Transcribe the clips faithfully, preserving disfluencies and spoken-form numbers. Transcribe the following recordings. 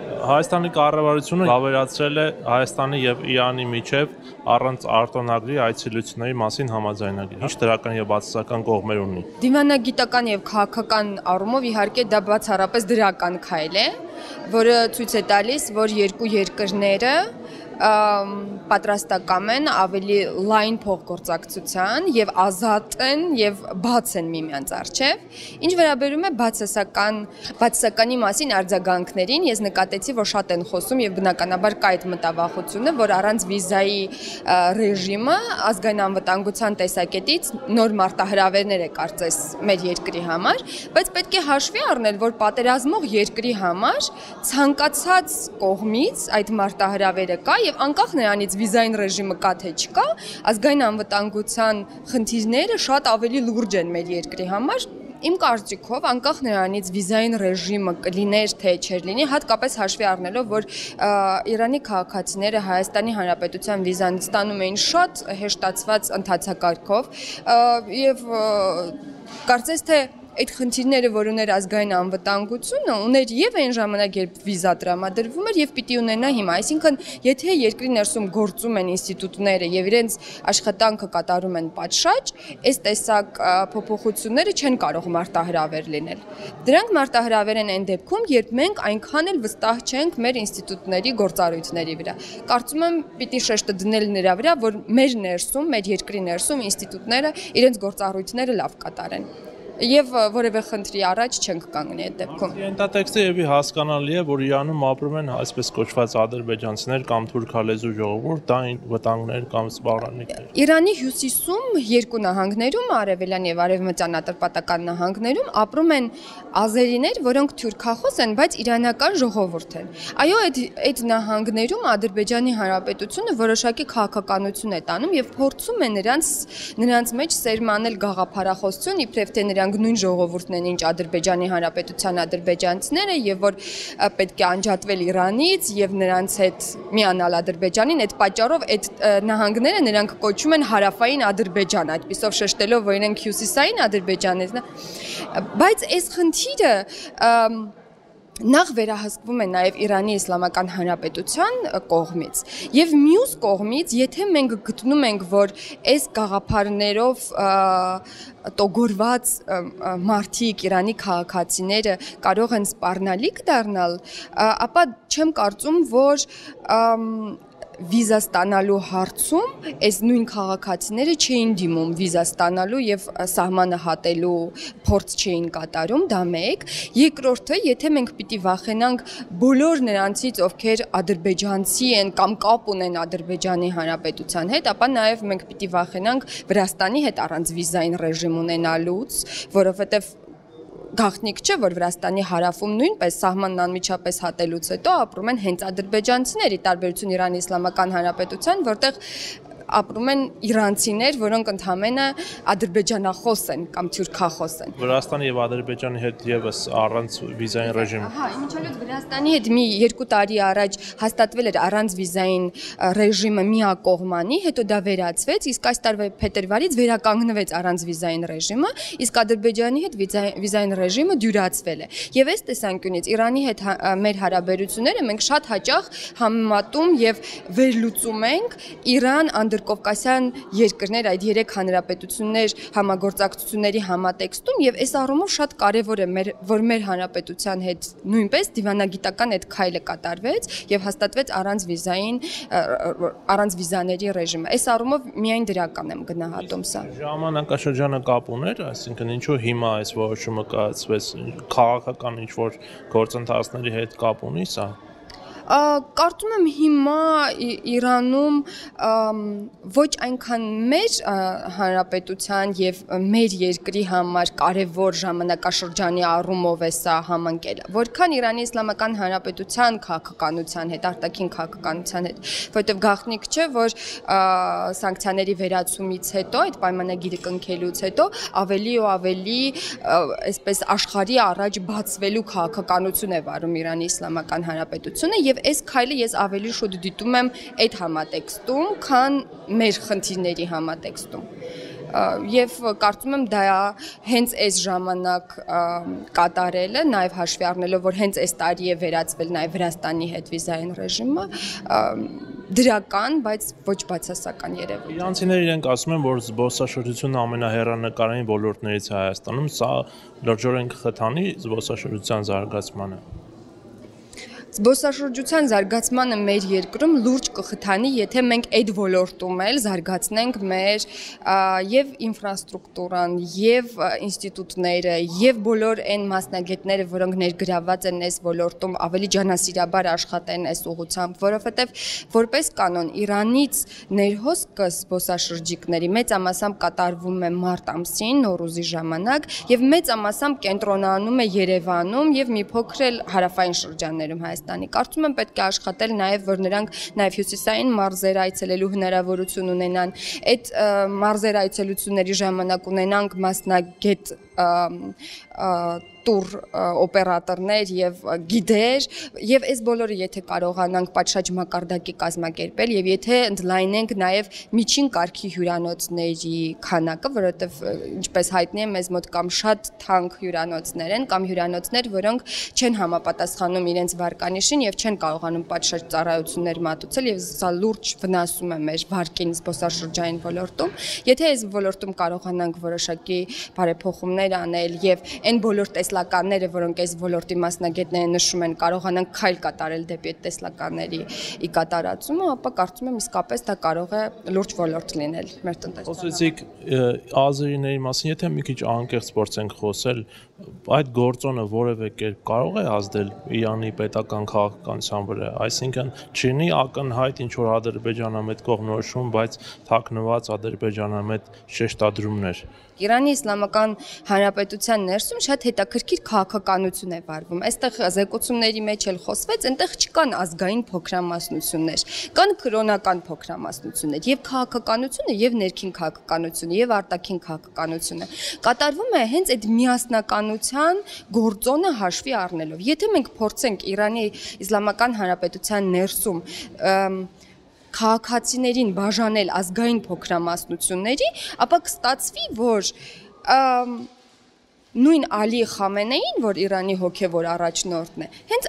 Հայաստանի կառավարությունը ավերացրել է Հայաստանի եւ Իրանի միջև առանց արտոնագրի այցելությունների մասին համաձայնագիր։ Ինչ դրական եւ բացասական կողմեր ունի։ Դիվանագիտական եւ քաղաքական առումով իհարկե դա բացառապես դրական քայլ է, որը ցույց է տալիս, որ երկու երկրները պատրաստական են ավելի լայն փոխգործակցության եւ ազատ են եւ բաց են միմյանց առջեւ։ Ինչ վերաբերում է բացասական բացասականի մասին արձագանքներին, ես նկատեցի, որ շատ են խոսում եւ բնականաբար կա այդ մտավախությունը, որ առանց վիզայի ռեժիմը ազգային անվտանգության տեսակետից նոր մարտահրավերներ է կարծես մեր երկրի համար, բայց պետք է հաշվի առնել, որ պատերազմող երկրի համար ցանկացած կողմից այդ մարտահրավերը կա եւ անկախ նրանից վիզային ռեժիմը կա թե չկա, ազգային անվտանգության խնդիրները շատ ավելի լուրջ են մեր երկրի համար։ Իմ կարծիքով, անկախ նրանից վիզային ռեժիմը կլիներ թե չէր լինի, հատկապես հաշվի առնելով, որ Իրանի քաղաքացիները Հայաստանի Հանրապետության վիզան ստանում էին շատ հեշտացված ընթացակարգով եւ կարծես թե այդ խնդիրները, որ ուներ ազգային անվտանգությունը, ուներ եւ այն ժամանակ, երբ վիզա տրամադրվում էր եւ պիտի ունենա հիմա, այսինքն եթե երկրի ներսում գործում են ինստիտուտները եւ իրենց աշխատանքը կատարում են պատշաճ, այս տեսակ փոփոխությունները չեն կարող մարտահրավեր լինել։ Դրանք մարտահրավեր են այն դեպքում, երբ մենք այնքան էլ վստահ չենք մեր ինստիտուտների գործառույթների վրա։ Կարծում եմ, պիտի շեշտը դնել նրա վրա, որ մեր ներսում, մեր երկրի ներսում ինստիտուտները իրենց գործառույթները լավ կատարեն։ Եվ որևէ խնդրի առաջ չենք կանգնի այդ դեպքում։ Ենթատեքստը եւի հասկանալի է, որ Իրանում ապրում են այսպես կոչված ադրբեջանցիներ կամ թուրքալեզու ժողովուրդ, դա վտանգներ կամ սպառնալիքներ։ Իրանի հյուսիսում երկու նահանգներում, արևելյան եւ արևմտյան ատրպատական նահանգներում ապրում են ազերիներ, որոնք թուրքախոս են, բայց իրանական ժողովուրդ են։ Այո, այդ այդ նահանգներում Ադրբեջանի Հանրապետությունը որոշակի քաղաքականություն է տանում եւ փորձում է նրանց նրանց մեջ սերմանել գաղափարախոսություն, իբրև թե նրանք նույն ժողովուրդն են, ինչ Ադրբեջանի Հանրապետության ադրբեջանցիները եւ որ պետք է անջատվել Իրանից եւ նրանց հետ միանալ Ադրբեջանին, այդ պատճառով այդ նահանգները նրանք կոչում են հարավային Ադրբեջան, այդպիսով շեշտելով, որ իրենք հյուսիսային Ադրբեջանից, բայց այս խնդիրը նախ վերահսկվում է նաև Իրանի Իսլամական Հանրապետության կողմից եւ մյուս կողմից, եթե մենք գտնում ենք, որ այս գաղափարներով տոգորված մարդիկ, Իրանի քաղաքացիները կարող են սպառնալիք դառնալ, ապա չեմ կարծում, որ վիզա ստանալու հարցում այս նույն քաղաքացիները չէին դիմում վիզա ստանալու եւ սահմանը հատելու փորձ չէին կատարում, դա մեկ։ Երկրորդը, եթե մենք պիտի վախենանք բոլոր նրանցից, ովքեր ադրբեջանցի են կամ կապ ունեն Ադրբեջանի Հանրապետության հետ, ապա նաեւ մենք պիտի վախենանք Վրաստանի հետ առանց վիզային ռեժիմ ունենալուց, որովհետեւ գաղտնիք չէ, որ Վրաստանի հարավում նույնպես սահմանն անմիջապես հատելուց հետո ապրում են հենց ադրբեջանցիներ, ի տարբերություն Իրանի Իսլամական Հանրապետության, որտեղ ապրում են իրանցիներ, որոնք ընդհանրապես ադրբեջանախոս են կամ թուրքախոս են։ Վրաստանի եւ Ադրբեջանի հետ եւս առանց վիզային ռեժիմ։ Հա, իմիջիայլոց Վրաստանի հետ մի երկու տարի առաջ հաստատվել էր առանց վիզային ռեժիմը միակողմանի, հետո դա վերացվեց, իսկ այս տարվա փետրվարից վերականգնվեց առանց վիզային ռեժիմը, իսկ Ադրբեջանի հետ վիզային ռեժիմը դյուրացվել է։ Եվ այս տեսանկյունից Իրանի հետ մեր հարաբերությունները մենք շատ հաճախ համեմատում եւ վերլուծում ենք Իրան Անդրկովկասյան երկրներ, այդ երեք հանրապետություններ համագործակցությունների համատեքստում եւ այս առումով շատ կարեւոր է մեր, որ մեր հանրապետության հետ նույնպես դիվանագիտական այդ քայլը կատարվեց եւ հաստատվեց առանց վիզային առանց վիզաների ռեժիմը։ Այս առումով միայն դրական եմ գնահատում սա։ Ժամանակաշրջանը կապ ուներ, այսինքն ինչու հիմա այս որոշումը կայացվեց, քաղաքական ինչ որ գործընթացների հետ կապ ունի սա։ Կարծում եմ հիմա Իրանում ոչ այնքան մեր հանրապետության եւ մեր երկրի համար կարևոր ժամանակաշրջանի առումով է սա համընկել, որքան Իրանի Իսլամական Հանրապետության քաղաքականության հետ, արտաքին քաղաքականության հետ, որովհետեւ գաղտնիք չէ, որ սանկցիաների վերացումից հետո, այդ պայմանագիրը կնքելուց հետո ավելի ու ավելի այսպես աշխարհի առաջ բացվելու քաղաքականություն է վարում Իրանի Իսլամական Հանրապետությունը եւ այս քայլը ես ավելի շուտ դիտում եմ այդ համատեքստում, քան մեր խնդիրների համատեքստում։ եւ կարծում եմ դա հենց այս ժամանակ կատարելը, նաեւ հաշվի առնելով, որ հենց այս տարի է վերածվել նաեւ Վրաստանի հետ վիզային ռեժիմը, դրական, բայց ոչ բացասական երևույթ։ Իրանցիները իրենք ասում են, որ զբոսաշրջությունը ամենահեռանկարային ոլորտներից է Հայաստանում, սա լրջորեն կխթանի զբոսաշրջության զարգացմանը։ Զբոսաշրջության զարգացմանը մեր երկրում լուրջ կխթանի, եթե մենք այդ ոլորտում էլ զարգացնենք մեր եւ ինֆրաստրուկտուրան, եւ ինստիտուտները, եւ բոլոր այն մասնագետները, որոնք ներգրավված են այս ոլորտում, ավելի ջանասիրաբար աշխատեն այս ուղղությամբ, որովհետեւ որպես կանոն Իրանից ներհոսքը զբոսաշրջիկների մեծամասամբ կատարվում է մարտ ամսին, Նոռուզի ժամանակ, եւ մեծամասամբ կենտրոնանում է Երևանում եւ մի փոքր էլ հարավային շրջաններում Հայաստանի։ Կարծում եմ պետք է աշխատել նաև, որ նրանք նաև հյուսիսային մարզեր այցելելու հնարավորություն ունենան, այդ մարզեր այցելությունների ժամանակ ունենանք մասնագետ տուր օպերատորներ եւ գիդեր եւ այս բոլորը եթե կարողանանք պատշաճ մակարդակի կազմակերպել եւ եթե ընդլայնենք նաեւ միջին կարգի հյուրանոցների քանակը, որովհետեւ ինչպես հայտնի է մեզ մոտ կամ շատ թանկ հյուրանոցներ են կամ հյուրանոցներ, որոնք չեն համապատասխանում իրենց վարկանիշին եւ չեն կարողանում պատշաճ ծառայություններ մատուցել եւ սա լուրջ վնասում է մեր վարկին զբոսաշրջային ոլորտում։ Եթե այս ոլորտում կարողանանք որոշակի բարեփոխումներ անել եւ այն բոլոր տեսլականները, որոնք այս ոլորտի մասնագետները նշում են, կարողանանք քայլ կատարել դեպի այդ տեսլականների ի կատարածումը, ապա կարծում եմ իսկապես դա կարող է լուրջ ոլորտ լինել մեր տնտեսության։ Խոսեցիք ազերիների մասին, եթե մի քիչ անկեղծ փորձենք խոսել, այդ գործոնը որևէ կերպ կարող է ազդել Իրանի պետական քաղաքականության վրա, այսինքն չինի ակնհայտ ինչ որ ադրբեջանամետ կողմնորոշում, բայց թաքնված ադրբեջանամետ շեշտադրումներ։ Իրանի Իսլամական Հանրապետության ներսում շատ հետաքրքիր քաղաքականություն է վարվում։ Այստեղ զեկուցումների մեջ էլ խոսվեց, այնտեղ չկան ազգային փոքրամասնություններ, կան կրոնական փոքրամասնություններ, եւ քաղաքականությունը, եւ ներքին քաղաքականությունը, եւ արտաքին քաղաքականությունը կատարվում է հենց այդ միասնականության գործոնը հաշվի առնելով։ Եթե մենք փորձենք Իրանի Իսլամական Հանրապետության ներսում քաղաքացիներին բաժանել ազգային փոքրամասնությունների, ապա կստացվի, որ նույն Ալի Խամենեին, որ Իրանի հոգևոր առաջնորդն է, հենց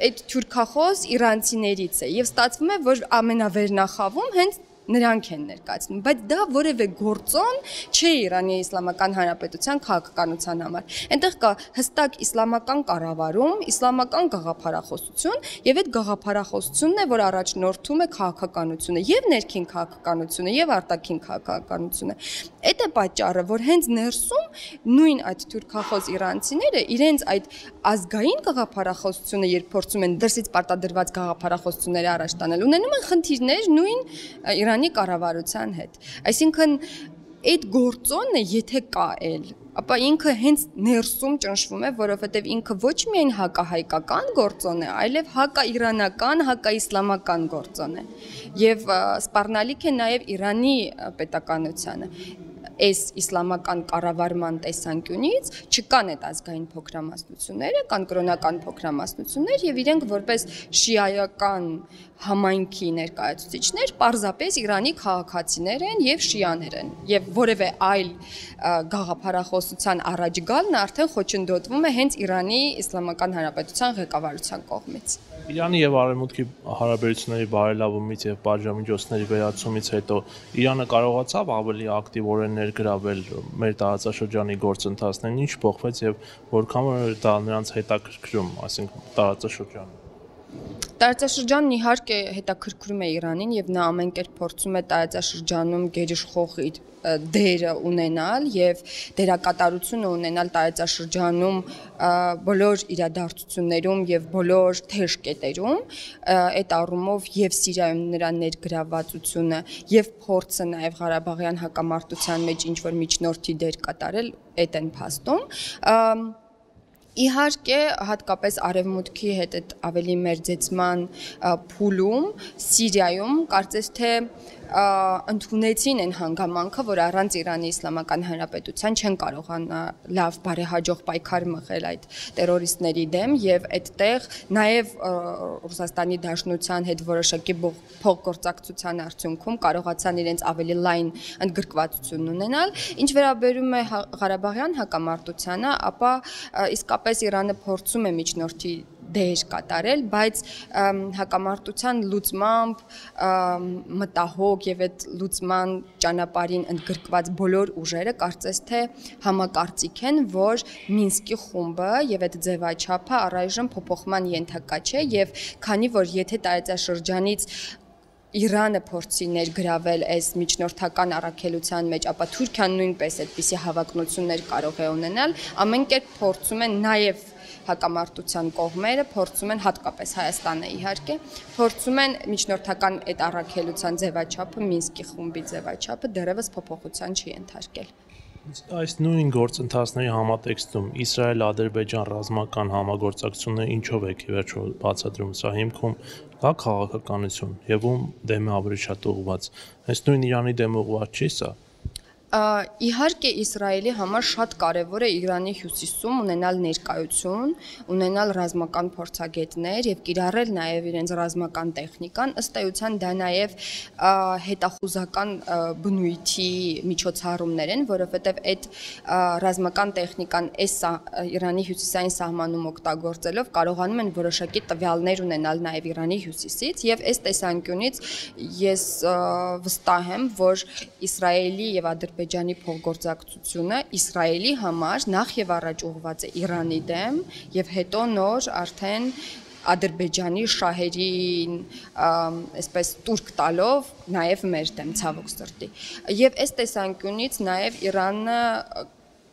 այդ թուրքախոս իրանցիներից է եւ ստացվում է, որ ամենավերնախավում հենց նրանք են ներկայացնում, բայց դա որևէ գործոն չէ Իրանի Իսլամական Հանրապետության քաղաքականության համար։ Այնտեղ կա հստակ իսլամական կառավարում, իսլամական գաղափարախոսություն եւ այդ գաղափարախոսությունն է, որ առաջնորդում է քաղաքականությունը, եւ ներքին քաղաքականությունը, եւ արտաքին քաղաքականությունը։ Այդ է պատճառը, որ հենց ներսում նույն այդ թուրքախոս իրանցիները իրենց այդ ազգային գաղափարախոսությունը, երբ փորձում են դրսից պարտադրված գաղափարախոսությունները առաջ տանել, ունենում են խնդիրներ նույն Իրանի կառավարության հետ։ Այսինքն այդ գործոնը եթե կա էլ, ապա ինքը հենց ներսում ճնշվում է, որովհետև ինքը ոչ միայն հակահայկական գործոն է, այլև հակաիրանական, հակաիսլամական գործոն է։ Եվ սպառնալիք է նաև Իրանի պետականությանը։ Այս իսլամական կառավարման տեսանկյունից չկան այդ ազգային փոքրամասնությունները, կան կրոնական փոքրամասնություններ եւ իրենք որպես շիայական համայնքի ներկայացուցիչներ պարզապես Իրանի քաղաքացիներ են եւ շիաներ են եւ որևէ այլ գաղափարախոսության առաջ գալն արդեն խոչընդոտվում է հենց Իրանի Իսլամական Հանրապետության ղեկավարության կողմից։ Իրանի եւ Արևմուտքի հարաբերությունների բարելավումից եւ պատժամիջոցների վերացումից հետո Իրանը կարողացավ ավելի ակտիվորեն ներգրավել մեր տարածաշրջանի գործընթացներին, ինչ փոխվեց եւ որքան դա նրանց հետաքրքրում, այսինքն տարածաշրջանը։ Տարածաշրջանն իհարկե հետաքրքրում է Իրանին եւ նա ամեն կերպ փորձում է տարածաշրջանում գերիշխող իր դերը ունենալ եւ դերակատարությունը ունենալ տարածաշրջանում բոլոր իրադարձություններում եւ բոլոր թեժ կետերում, այդ առումով եւ Սիրիայում նրա ներգրավվածությունը եւ փորձը նաեւ Ղարաբաղյան հակամարտության մեջ ինչ որ միջնորդի դեր կատարել, այդ են փաստում։ Իհարկե, հատկապես Արևմուտքի հետ այդ ավելի մերձեցման փուլում, Սիրիայում կարծես թե ընդունեցին այն հանգամանքը, որ առանց Իրանի Իսլամական Հանրապետության չեն կարողանա լավ բարեհաջող պայքար մղել այդ տերորիստների դեմ եւ այդտեղ նաեւ Ռուսաստանի Դաշնության հետ որոշակի փոխգործակցության արդյունքում կարողացան իրենց ավելի լայն ընդգրկվածություն ունենալ։ Ինչ վերաբերում է Ղարաբաղյան հակամարտությանը, ապա իսկապես Իրանը փորձում է միջնորդի դեր կատարել, բայց հակամարտության լուծմամբ մտահոգ եւ այդ լուծման ճանապարհին ընդգրկված բոլոր ուժերը կարծես թե համակարծիք են, որ Մինսկի խումբը եւ այդ ձևաչափը առայժմ փոփոխման ենթակա չէ եւ քանի որ եթե տարածաշրջանից Իրանը փորձի ներգրավել այս միջնորդական առաքելության մեջ, ապա Թուրքիան նույնպես այդպիսի հավակնություններ կարող է ունենալ, ամեն կերպ փորձում են նաեւ հակամարտության կողմերը փորձում են հատկապես Հայաստանը իհարկե փորձում են միջնորդական այդ առաքելության ձևաչափը Մինսկի խումբի ձևաչափը դեռևս փոփոխության չի ենթարկել։ Այս նույն գործընթացների համատեքստում Իսրայել-Ադրբեջան ռազմական համագործակցությունը ինչով է վերջո բացատրում, սա հիմքում կա քաղաքականություն եւ ում դեմ է ավելի շատ ուղղված։ Այս նույն Իրանի դեմ ուղղված չի սա։ Իհարկե Իսրայելի համար շատ կարևոր է Իրանի հյուսիսում ունենալ ներկայություն, ունենալ ռազմական փորձագետներ եւ կիրառել նաեւ իրենց ռազմական տեխնիկան, ըստ էության դա նաեւ հետախուզական բնույթի միջոցառումներ են, որովհետեւ այդ ռազմական տեխնիկան այս Իրանի հյուսիսային սահմանում օգտագործելով կարողանում են որոշակի տվյալներ ունենալ նաեւ Իրանի հյուսիսից եւ այս տեսանկյունից ես վստահ եմ, որ Իսրայելի եւ Ադրբեջանի փոխգործակցությունը Իսրայելի համար նախ եւ առաջ ուղղված է Իրանի դեմ եւ հետո նոր արդեն Ադրբեջանի շահերին այսպես տուրք տալով նաեւ մեր դեմ ցավոք սրտի եւ այս տեսանկյունից նաեւ Իրանը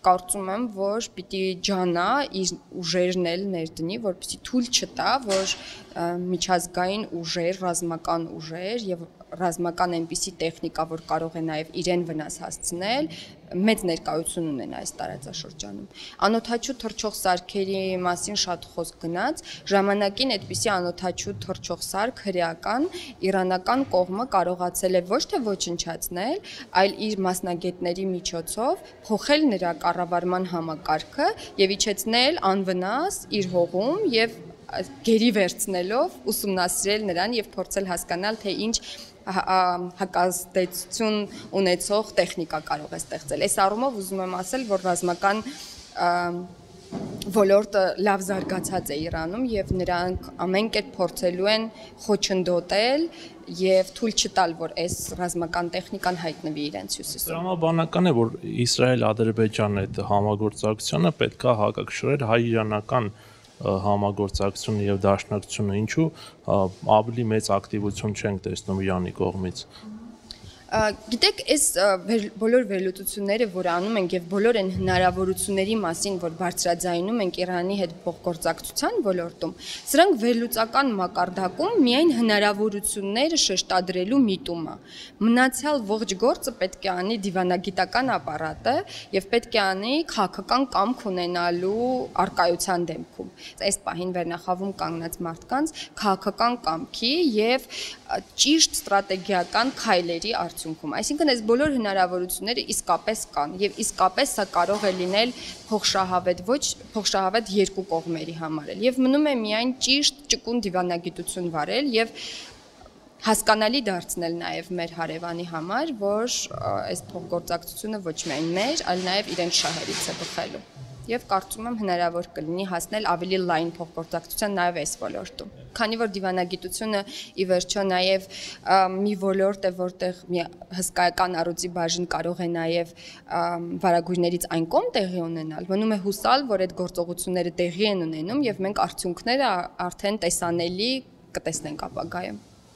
կարծում եմ, որ պիտի ջանա իր ուժերն էլ ներդնի, որպեսզի թույլ չտա, որ միջազգային ուժեր, ռազմական ուժեր եւ ռազմական այնպիսի տեխնիկա, որ կարող է նաև իրեն վնաս հասցնել, մեծ ներկայություն ունեն այս տարածաշրջանում։ Անօթաչու թռչող սարքերի մասին շատ խոսք գնաց, ժամանակին այդպիսի անօթաչու թռչող սարք հրեական իրանական կողմը կարողացել է ոչ թե ոչնչացնել, այլ իր մասնագետների միջոցով փոխել նրա կառավարման համակարգը եւ իջեցնել անվնաս իր հողում եւ գերի վերցնելով ուսումնասիրել նրան եւ փորձել հասկանալ թե ինչ հակազդեցություն ունեցող տեխնիկա կարող է ստեղծել։ Այս առումով ուզում եմ ասել, որ ռազմական ոլորտը լավ զարգացած է Իրանում եւ նրանք ամեն կերպ փորձելու են խոչընդոտել եւ թույլ չտալ, որ այս ռազմական տեխնիկան հայտնվի իրենց հյուսիսում։ Տրամաբանական է, որ Իսրայել-Ադրբեջան այդ համագործակցությունը պետք է հակակշռել հայ-իրանական համագործակցությունը եւ դաշնակցությունը, ինչու ավելի մեծ ակտիվություն չենք տեսնում Իրանի կողմից։ Գիտեք, այս բոլոր վերլուծությունները, որ անում ենք եւ բոլոր այն հնարավորությունների մասին, որ բարձրաձայնում ենք Իրանի հետ փոխգործակցության ոլորտում, սրանք վերլուծական մակարդակում միայն հնարավորությունները շեշտադրելու միտում է։ Մնացյալ ողջ գործը պետք է անի դիվանագիտական ապարատը եւ պետք է անի քաղաքական կամք ունենալու արկայության դեպքում։ Այս պահին վերնախավում կանգնած մարդկանց քաղաքական կամքի եւ ճիշտ ստրատեգիական քայլերի արդյունքում։ Այսինքն այս բոլոր հնարավորությունները իսկապես կան եւ իսկապես սա կարող է լինել փոխշահավետ ոչ փոխշահավետ երկու կողմերի համար էլ եւ մնում է միայն ճիշտ ճկուն դիվանագիտություն վարել եւ հասկանալի դարձնել նաեւ մեր հարևանի համար, որ այս փոխգործակցությունը ոչ միայն մեր, այլ նաեւ իրենց շահերից է բխելու։ Եվ կարծում եմ հնարավոր կլինի հասնել ավելի լայն փոխգործակցության նաև այս ոլորտում։ Քանի որ դիվանագիտությունը ի վերջո նաև մի ոլորտ է, որտեղ մի հսկայական առյուծի բաժին կարող է նաև վարագույրներից այն կողմ տեղի ունենալ, մնում է հուսալ, որ այդ գործողությունները տեղի են ունենում եւ մենք արդյունքները արդեն տեսանելի կտեսնենք ապագայում։